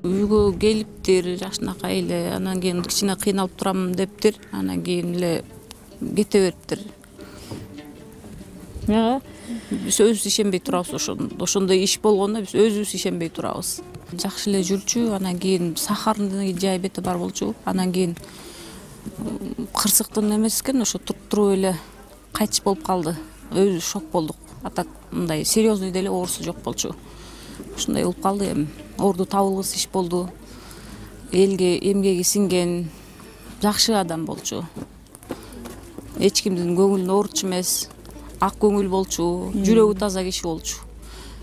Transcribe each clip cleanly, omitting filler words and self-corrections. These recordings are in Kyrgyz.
Үйгө келиптир, жакшынакай эле, анан кийин кичине кыйналып турам дептир, анан кийин эле кете бериптир. Биз өзүбүз ишенбей турабыз ошондой иш болгондо биз өзүбүз ишенбей турабыз. Жакшы эле жүрчү, анан кийин сахарный диабети бар болчу, анан кийин кырсыктын эмес экен, ошо туруп эле кайтыш болуп калды. Өзүбүз шок болдук. А так мындай серьезный деле оорусу жок болчу. Ушундай болуп калды эми. Орду табылгыс иш болду. Элге эмгеги сиңген жакшы адам болчу. Эч кимдин көңүлүн оорутчу эмес, ак көңүл болчу, жүрөгү таза киши болчу.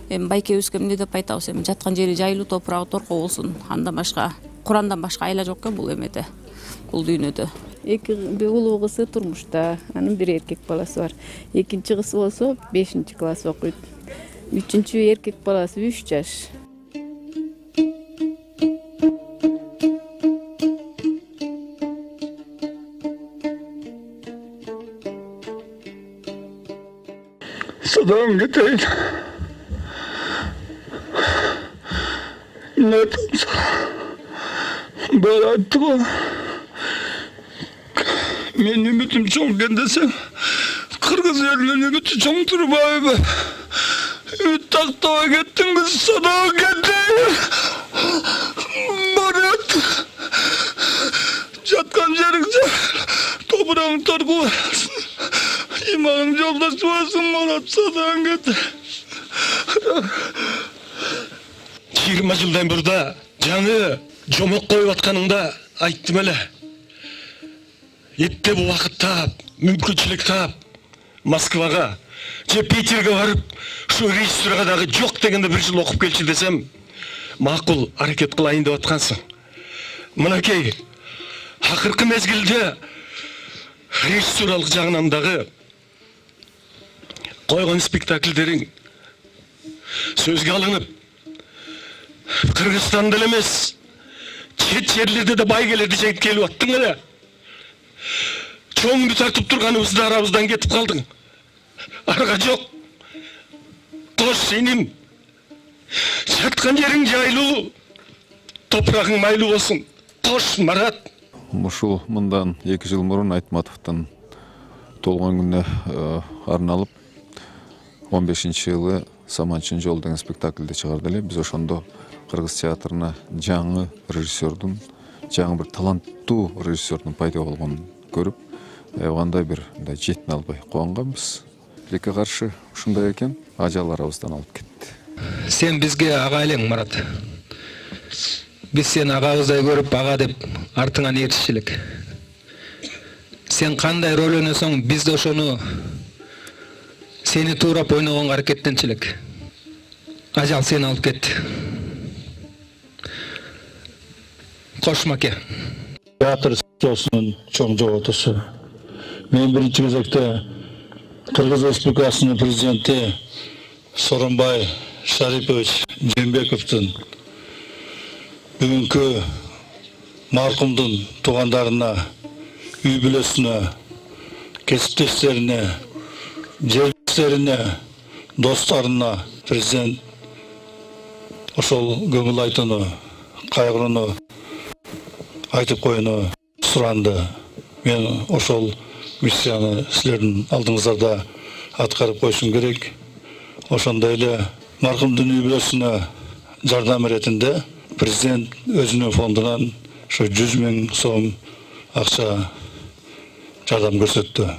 Эми байкебизге эмне деп айтабыз, эми жаткан жери жайлуу, топурагы торко болсун. Андан башка, Курандан башка айла жок экен бул эмеде, бул дүйнөдө. Эки улуу кызы турмушта, анын бир эркек баласы бар. Экинчи кызы болсо 5-класс окуйт. Үчүнчү эркек баласы 3 жаш. Sadan getireyim. Ne yapayım? Böyle attık o. Men ümitim çoğken desem, Kırgız yerinin ümiti çoğun durup abi. Ümit taktava gittin kız sana gittin. Marat. Jatkan jeringce toprağın torku varsın. İmanın yoldaşı varsın Marat sadan gittin. 20 жылдан burada жаңы жомок коюп атканыңда айттым эле. Этте бул убакыт таап, мүмкүнчүлүк таап, Москвага же Питерге барып, ушу режиссурга дагы жок дегенде бир жыл окуп келчи десем, макул аракет кылайын деп аткансың. Мынакей, акыркы мезгилде режиссуралык жагынан дагы койгон спектакльдериң сөзгө алынып, Кыргызстанда эле эмес, чет жерлерде да байгелерди жегип келип аттың эле. Чоңду тартып турганыбызда арабыздан кетип калдың. Арга жок. Кош сенин. Жаткан жериң жайлуу, топурагың майлуу болсун. Кош Марат. Ушул мындан 2 жыл мурун Айтматовдун толгон күнүнө арналып 15-жылы Саманчын жол деген спектакльди чыгарды эле. Биз ошондо Кыргыз театрына жаңы режиссердун, жаңы бир таланттуу режиссердун пайда болгонун көрүп, кандай бир жетин албай кубанганбыз. Тилекке каршы ушундай экен, ажал арабыздан алып кетти. Сен бизге ага элең, Марат. Биз сени агабыздай көрүп, ага деп артыңан ээрчиш элек. Сен кандай роль ойносоң, биз да ошону сени туурап ойногонго аракеттенчү элек. Ажал сени алып кетти. Кош маке. Театр соосунун чоң жоготусу. Мен биринчи кезекте Кыргыз Республикасынын президенти Сооронбай Шарипович Жээнбековдун бүгүнкү маркумдун туугандарына, үй бүлөсүнө, кесиптештерине, жерлештерине, досторуна президент ошол көңүл айтууну, кайгырууну айтып коюуну суранды. Мен ошол миссияны силердин алдыңыздарда аткарып койушум керек. Ошондой эле маркумдун үй бүлөсүнө жардам иретинде президент өзүнүн фондунан ошо 100 000 сом акча жардам көрсөттү.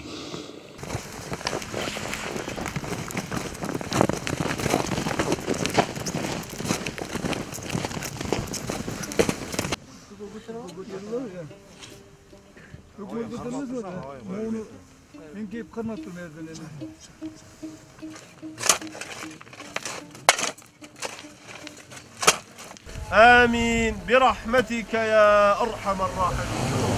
آمين برحمتك يا أرحم الراحمين.